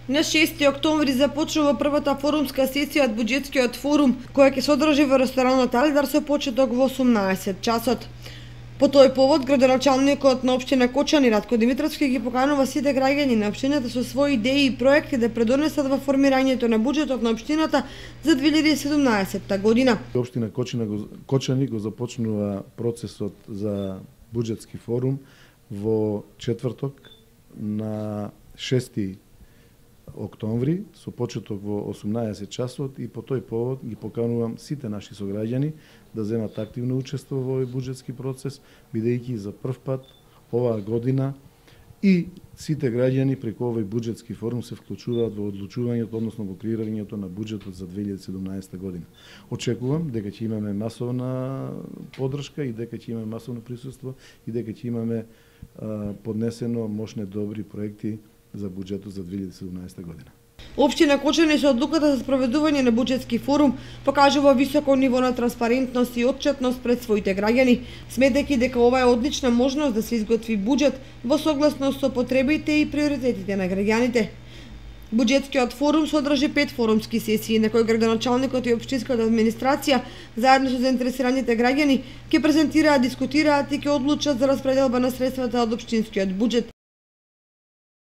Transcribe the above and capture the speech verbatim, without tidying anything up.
На шести октомври започнува првата форумска сесија од буџетскиот форум, која ќе се одржи во ресторанот Алидар со почеток во осумнаесет часот. По тој повод, градоначалникот на општина Кочани Ратко Димитровски ги поканува сите граѓани на општината со своји идеи и проекти да предонесат во формирањето на буџетот на општината за две илјади и седумнаесетта година. Општина Кочани го, Кочани го започнува процесот за буџетски форум во четврток на шести октомври со почеток во осумнаесет часот и по тој повод ги поканувам сите наши сограѓани да земат активно учество во овој буџетски процес, бидејќи за прв пат оваа година и сите граѓани преку овој буџетски форум се вклучуваат во одлучувањето, односно во креирањето на буџетот за две илјади и седумнаесетта година. Очекувам дека ќе имаме масовна поддршка и дека ќе имаме масовно присуство и дека ќе имаме а, поднесено мощни добри проекти за буџетот за две илјади и седумнаесетта година. Општина Кочани со одлуката за спроведување на буџетски форум покажува високо ниво на транспарентност и отчетност пред своите граѓани, сметајќи дека ова е одлична можност да се изготви буџет во согласност со потребите и приоритетите на граѓаните. Буџетскиот форум содржи пет форумски сесии на кои градоначалникот и општинската администрација заедно со заинтересираните граѓани ќе презентираат, дискутираат и ќе одлучат за распределба на средствата од општинскиот буџет